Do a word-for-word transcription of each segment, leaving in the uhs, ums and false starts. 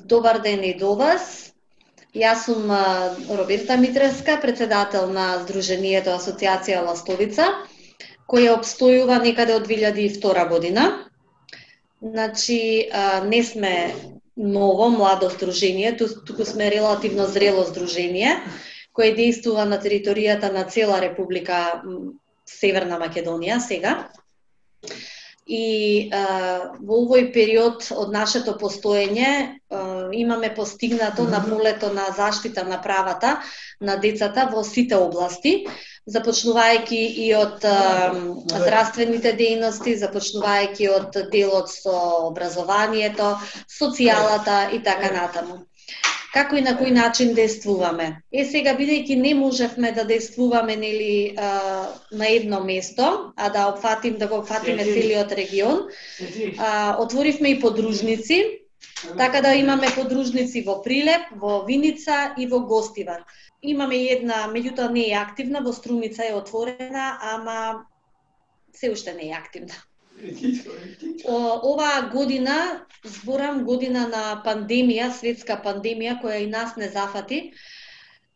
Добар ден и до вас. Јас сум Роберта Митревска, председател на Сдруженијето Асоциација Ластовица, која обстојува некаде од две илјади и втора година. Значи, не сме ново, младо сдружение, туку сме релативно зрело сдружение, кое действува на територијата на цела Република Северна Македонија сега. И а, во овој период од нашето постоење а, имаме постигнато на полето на заштита на правата на децата во сите области, започнувајќи и од а, здравствените дејности, започнувајќи од делот со образованието, социјалата и така натаму. Како и на кој начин действуваме. Е сега, бидејќи не можевме да действуваме нели на едно место, а да опфатим да го опфатиме целиот регион, а, отворивме и подружници, така да имаме подружници во Прилеп, во Виница и во Гостивар. Имаме една, меѓутоа не е активна, во Струмица е отворена, ама се уште не е активна. Оваа година, зборам година на пандемија, светска пандемија, која и нас не зафати,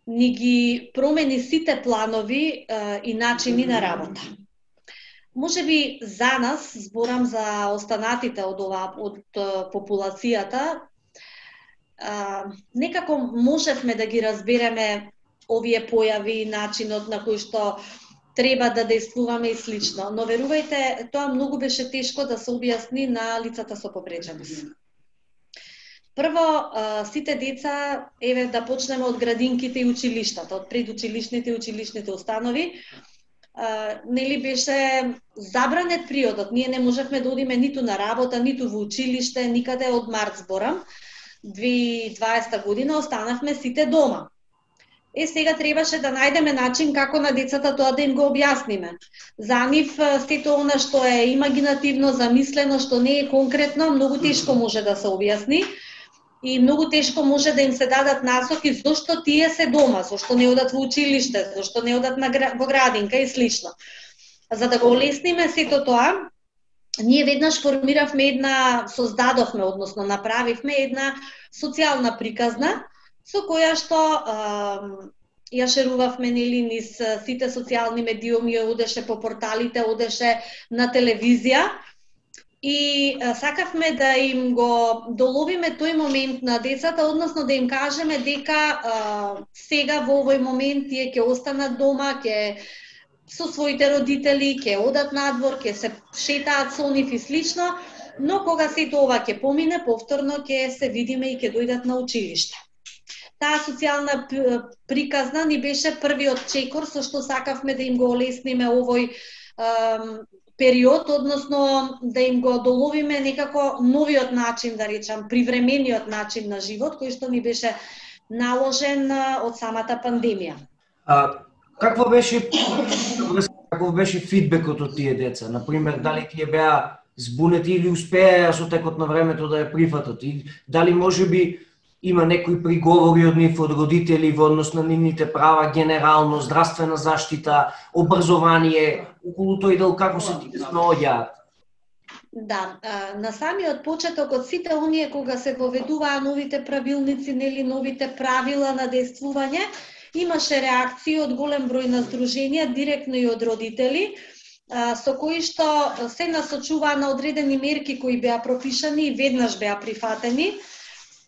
ни ги промени сите планови е, и начини на работа. Може би за нас, зборам за останатите од ова, од популацијата, е, некако можевме да ги разбереме овие појави, начинот на кој што треба да действуваме и слично. Но верувајте, тоа многу беше тешко да се објасни на лицата со повреđеност. Прво, сите деца, еве да почнеме од градинките и училиштата, од предучилишните и училишните установи, нели беше забранет приодот. Ние не можевме да одиме ниту на работа, ниту во училиште, никаде од март зборам. две илјади и дваесета година останавме сите дома. Е, сега требаше да најдеме начин како на децата тоа да им го објасниме. За нив сето она што е имагинативно, замислено, што не е конкретно, многу тешко може да се објасни и многу тешко може да им се дадат насоки зошто тие се дома, зошто не одат во училиште, зошто не одат на, во градинка и слично. За да го олесниме сето тоа, ние веднаш формиравме една, создадовме, односно направивме една социјална приказна, со која што а, ја шерувавме нели низ сите социјални медиуми, одеше по порталите, одеше на телевизија и а, сакавме да им го доловиме тој момент на децата, односно да им кажеме дека а, сега во овој момент тие ќе останат дома, ќе со своите родители, ќе одат надвор, ќе се шетаат со нив и слично, но кога сето ова ќе помине, повторно ќе се видиме и ќе дојдат на училиште. Таа социјална приказна ни беше првиот чекор со што сакавме да им го олесниме овој е, период, односно да им го доловиме некако новиот начин, да речам, привремениот начин на живот, кој што ни беше наложен од самата пандемија. А, какво беше каков беше фидбекот од тие деца? Например, дали тие беа збунети или успеа со текот на времето да ја прифатат? И дали можеби има некои приговори од нив, од родители во однос на нивните права, генерално, здравствена заштита, образование, околу тој дел како се тие снаоѓаат? Да, на самиот почеток од сите оние кога се воведуваа новите правилници, нели новите правила на действување, имаше реакции од голем број на сдруженија, директно и од родители, со кои што се насочуваа на одредени мерки кои беа пропишани и веднаш беа прифатени.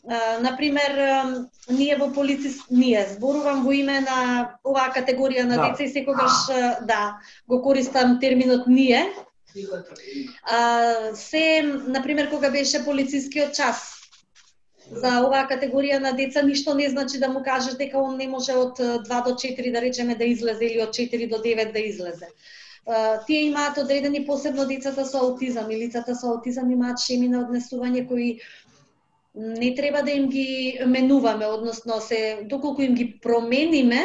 Uh, например, uh, ние во полицис, ние зборувам во име на оваа категорија на да. Деца и секогаш uh, да, го користам терминот ние. Uh, се, например, кога беше полицискиот час за оваа категорија на деца, ништо не значи да му кажеш дека он не може од два до четири, да речеме, да излезе или од четири до девет да излезе. Uh, тие имаат одредени, посебно децата со аутизам и лицата со аутизам имаат шеми на однесување кои не треба да им ги менуваме, односно се доколку им ги промениме,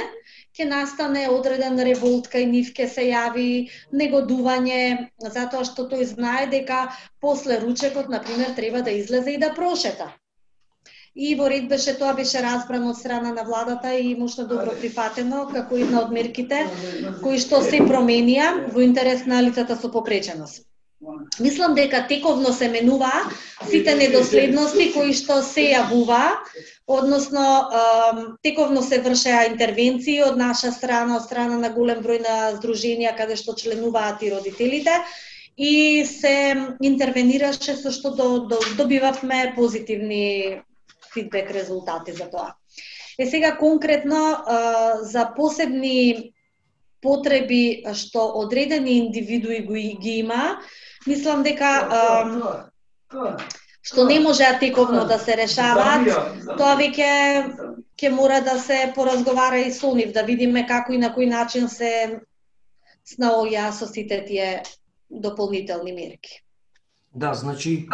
ќе настане одреден револт кај нив, ќе се јави негодување, затоа што тој знае дека после ручекот, например, треба да излезе и да прошета. И во ред беше тоа, беше разбрано од страна на владата и мошно добро прифатено како една од мерките кои што се променија во интерес на лицата со попреченост. Мислам дека тековно се менуваа сите недоследности кои што се јавуваа, односно тековно се вршеа интервенции од наша страна, од страна на голем број на здруженија каде што членуваат и родителите, и се интервенираше со што до, до, добивавме позитивни фидбек резултати за тоа. Е сега конкретно за посебни потреби што одредени индивидуи ги има, мислам дека што не можеа тековно да се решаваат, тоа веќе ќе мора да се поразговара и со нив, да видиме како и на кој начин се снаоѓа со сите тие дополнителни мерки. Да, значи,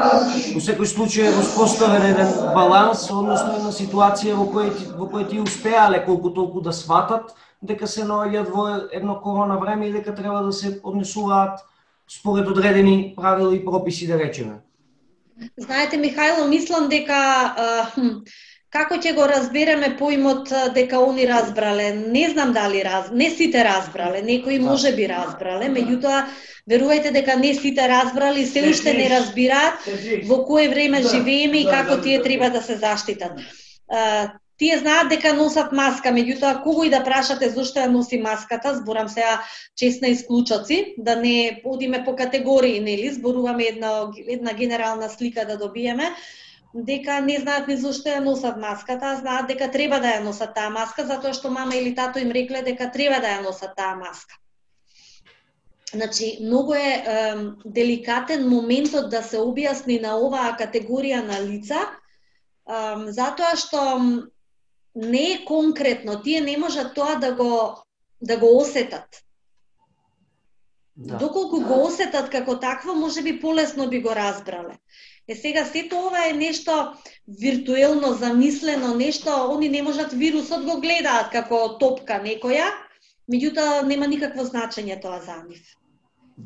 во секој случај е воспоставен еден баланс, односно една ситуација во која во која ти успеале колку толку да сватат дека се наоѓаат во едно корона време и дека треба да се однесуваат според одредени правила и прописи, да речеме. Знаете, Михајло, мислам дека а, хм, како ќе го разбереме поимот дека они разбрале? Не знам дали раз, не сите разбрале, некои може би разбрале, меѓутоа верувајте дека не сите разбрали, се уште не разбираат во кое време живееме и како тие треба да се заштитат. А, Тие знаат дека носат маска, меѓутоа кого и да прашате зошто ја носи маската, зборам сега честна исклучоци, да не одиме по категории, нели, зборуваме една една генерална слика да добиеме, дека не знаат ни зошто ја носат маската, а знаат дека треба да ја носат таа маска затоа што мама или тато им рекле дека треба да ја носат таа маска. Значи, многу е, е деликатен моментот да се објасни на оваа категорија на лица, е, затоа што не е конкретно, тие не можат тоа да го да го осетат. Да. Доколку го осетат како такво, можеби полесно би го разбрале. Е сега сето ова е нешто виртуелно замислено, нешто они не можат, вирусот го гледаат како топка некоја, меѓутоа нема никакво значење тоа за нив.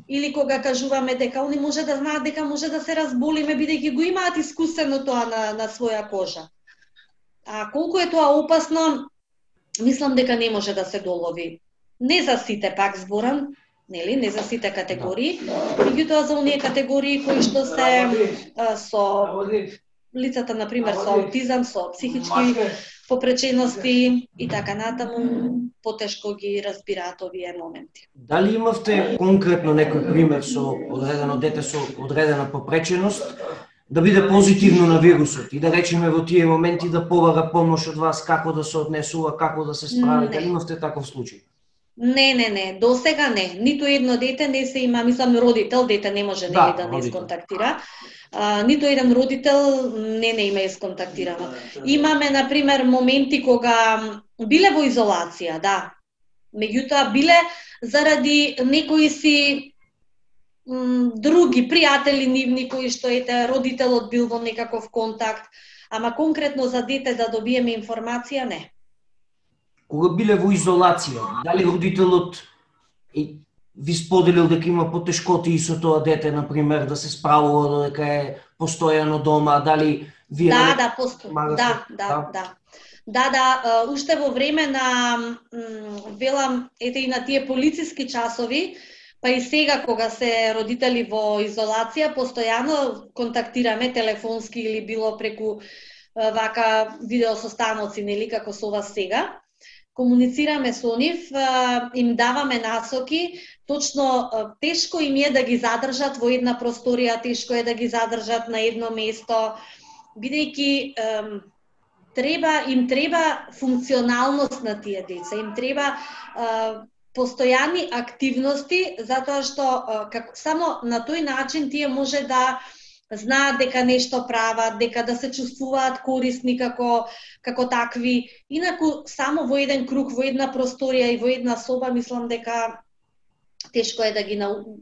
Или кога кажуваме дека они може да знаат дека може да се разболиме бидејќи го имаат искусено тоа на на своја кожа. А колку е тоа опасно, мислам дека не може да се долови. Не за сите, пак зборам, нели, не за сите категории, меѓутоа за оние категории кои што се а, со лицата, на пример, со аутизам, со психички попречености и така натаму, потешко ги разбираат овие моменти. Дали имавте конкретно некој пример со одредено дете со одредена попреченост да биде позитивно на вирусот и да речеме во тие моменти да побара помош од вас, како да се однесува, како да се справи? Дали имавте таков случај? Не, не, не, до сега не. Ниту едно дете не се има, мислам родител, дете не може да, да не исконтактира. А, ниту еден родител не не има исконтактирано. Имаме, на пример, моменти кога биле во изолација, да. Меѓутоа биле заради некои си други пријатели нивни кои што ете родителот бил во некаков контакт, ама конкретно за дете да добиеме информација, не. Кога биле во изолација, дали родителот ви споделил дека има потешкоти и со тоа дете, на пример, да се справува додека е постојано дома, дали вие Да, да, посто... да, да, да. Да, да, уште во време на велам ете и на тие полициски часови, па и сега кога се родители во изолација, постојано контактираме телефонски или било преку вака видеосостаноци, нели како со вас сега. Комуницираме со нив, им даваме насоки, точно тешко им е да ги задржат во една просторија, тешко е да ги задржат на едно место, бидејќи треба им треба функционалност на тие деца, им треба постојани активности, затоа што како само на тој начин тие може да знаат дека нешто прават, дека да се чувствуваат корисни како како такви. Инаку само во еден круг, во една просторија и во една соба, мислам дека тешко е да ги нау...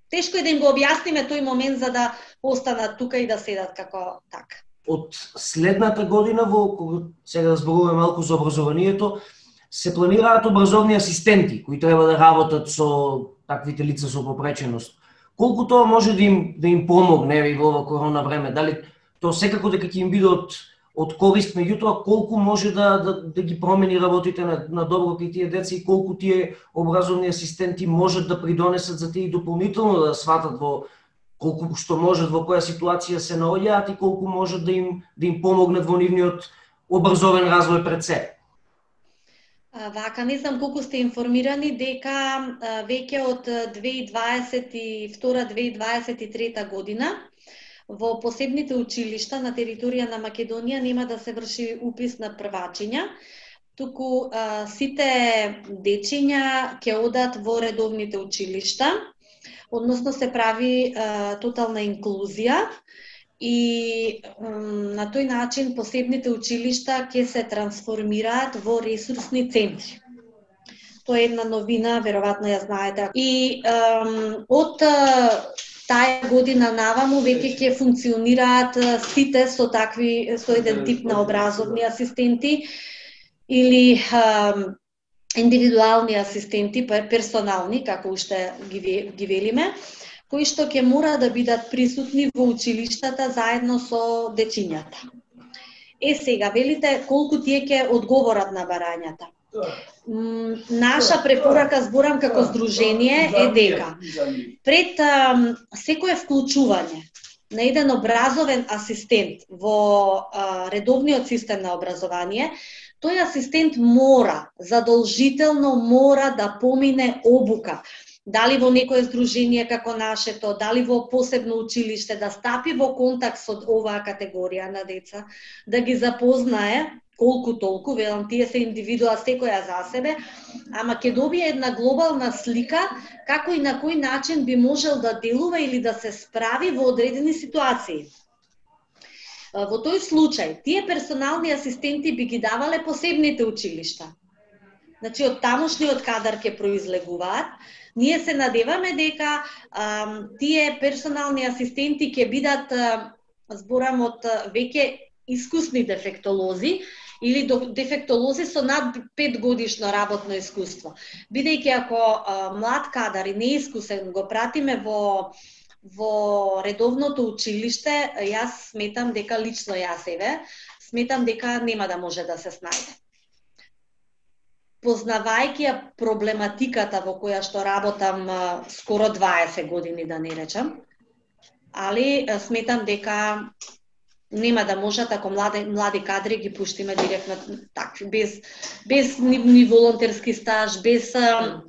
тешко е да им го објасниме тој момент за да останат тука и да седат како така. Од следната година, во кога сега зборуваме малку за образованието, се планираат образовни асистенти кои треба да работат со таквите лица со попреченост. Колку тоа може да им да им помогне во ова корона време? Дали тоа секако дека ќе им биде од од корист, меѓутоа колку може да да, да ги промени работите на, на добро кај тие деца и колку тие образовни асистенти можат да придонесат за тие дополнително да сватат во колку што можат во која ситуација се наоѓаат и колку можат да им да им помогнат во нивниот образовен развој пред се. Вака, не знам колку сте информирани дека веќе од две илјади дваесет и втора - две илјади дваесет и трета година во посебните училишта на територија на Македонија нема да се врши упис на првачиња, туку а, сите дечиња ќе одат во редовните училишта, односно се прави а, тотална инклузија и м, на тој начин посебните училишта ќе се трансформираат во ресурсни центри. Тоа е една новина, веројатно ја знаете. И ем, од таа година наваму веќе ќе функционираат сите со такви со еден тип на образовни асистенти или ем, индивидуални асистенти, персонални, како уште ги, ги велиме, кои што ќе мора да бидат присутни во училиштата заедно со дечињата. Е сега, велите колку тие ќе одговорат на барањата. Наша препорака, зборам како здружение, е дека пред а, секое вклучување на еден образовен асистент во а, редовниот систем на образование, тој асистент мора, задолжително мора да помине обука. Дали во некое здружение како нашето, дали во посебно училиште, да стапи во контакт со оваа категорија на деца, да ги запознае колку толку, велам, тие се индивидуа секоја за себе, ама ќе добие една глобална слика како и на кој начин би можел да делува или да се справи во одредени ситуации. Во тој случај, тие персонални асистенти би ги давале посебните училишта. Значи, од тамошниот кадар ќе произлегуваат. Ние се надеваме дека а, тие персонални асистенти ќе бидат, а, зборам од веќе искусни дефектолози, или дефектолози со над пет годишно работно искуство. Бидејќи ако а, млад кадар и неискусен го пратиме во во редовното училиште, јас сметам дека лично јас еве, сметам дека нема да може да се снајде. Познавајќи ја проблематиката во која што работам а, скоро дваесет години, да не речам, али а, сметам дека нема да можат ако млади млади кадри ги пуштиме директно такви, без без ни, ни волонтерски стаж, без а,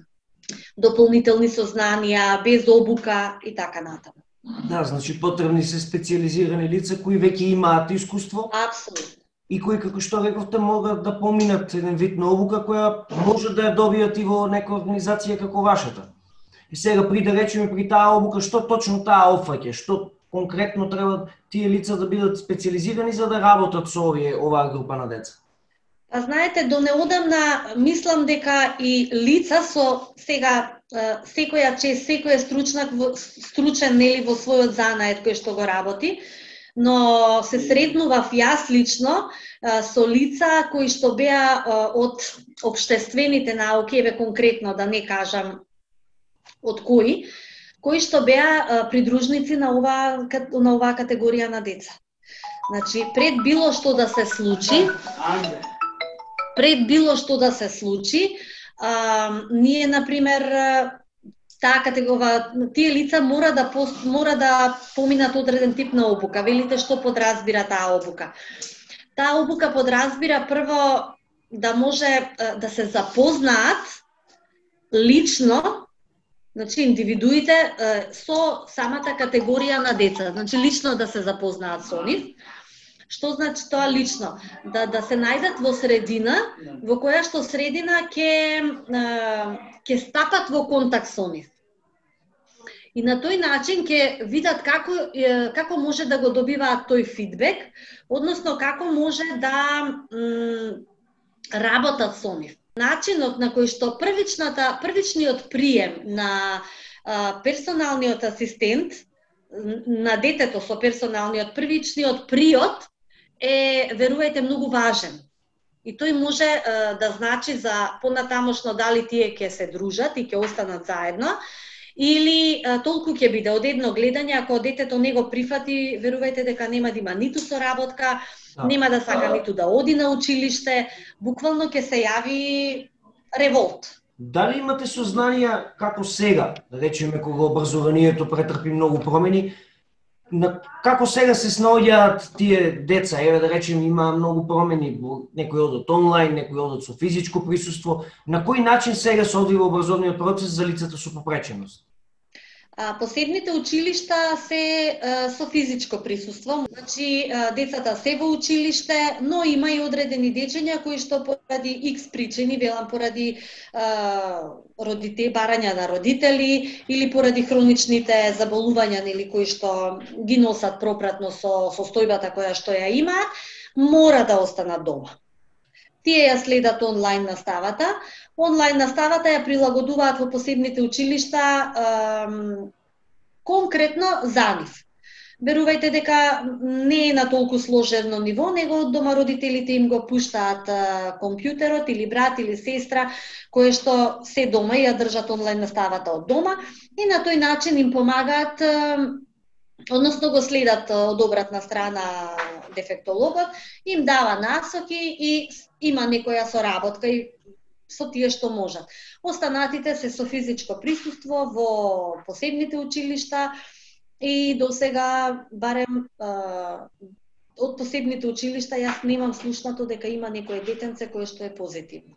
дополнителни сознанија, без обука и така натаму. Да, значи потребни се специјализирани лица кои веќе имаат искуство. Апсолутно. И кои, како што рековте, могат да поминат еден вид на обука која може да ја добијат и во некоја организација како вашата. И сега при да речеме при таа обука, што точно таа опфаќа, што конкретно треба тие лица да бидат специјализирани за да работат со овие оваа група на деца? А знаете, до неодамна мислам дека и лица со сега секоја чест, секој е стручнак, стручен нели во својот занает кој што го работи, но се сретнував јас лично со лица кои што беа од општествените науки, еве конкретно да не кажам од кои, кои што беа придружници на оваа на оваа категорија на деца. Значи, пред било што да се случи, пред било што да се случи, а, ние на пример таа категорија, тие лица мора да пост, мора да поминат одреден тип на обука. Велите што подразбира таа обука? Таа обука подразбира прво да може да се запознаат лично, значи индивидуите со самата категорија на деца, значи лично да се запознаат со нив. Што значи тоа лично? Да да се најдат во средина во која што средина ќе ќе стапат во контакт со нив. И на тој начин ќе видат како како може да го добиваат тој фидбек, односно како може да м, работат со нив. Начинот на кој што првичната првичниот прием на а, персоналниот асистент на детето со персоналниот првичниот приод е, верувајте, многу важен. И тој може е, да значи за понатамошно дали тие ќе се дружат и ќе останат заедно, или е, толку ќе биде од едно гледање, ако детето не го прифати, верувајте дека нема да има ниту соработка, да. Нема да сака ниту да оди на училиште, буквално ќе се јави револт. Дали имате сознанија како сега, да речеме кога образованието претрпи многу промени, на како сега се снаоѓаат тие деца? Еве да речеме има многу промени, некои одат онлайн, некои одат со физичко присуство. На кој начин сега се одвива образовниот процес за лицата со попреченост? А, посебните училишта се а, со физичко присуство, значи а, децата се во училиште, но има и одредени дечиња кои што поради икс причини, велам поради а, родите, барања на родители или поради хроничните заболувања нели кои што ги носат пропратно со состојбата која што ја имаат, мора да останат дома. Тие ја следат онлайн наставата. Онлайн наставата ја прилагодуваат во посебните училишта ем, конкретно за нив. Верувајте дека не е на толку сложено ниво, него од дома родителите им го пуштаат е, компјутерот или брат или сестра, кои што се дома и ја држат онлайн наставата од дома и на тој начин им помагаат, е, односно го следат од обратна страна дефектологот, им дава насоки и има некоја соработка и со тие што можат. Останатите се со физичко присуство во посебните училишта и до сега барем а, од посебните училишта јас немам слушнато дека има некое детенце кое што е позитивно.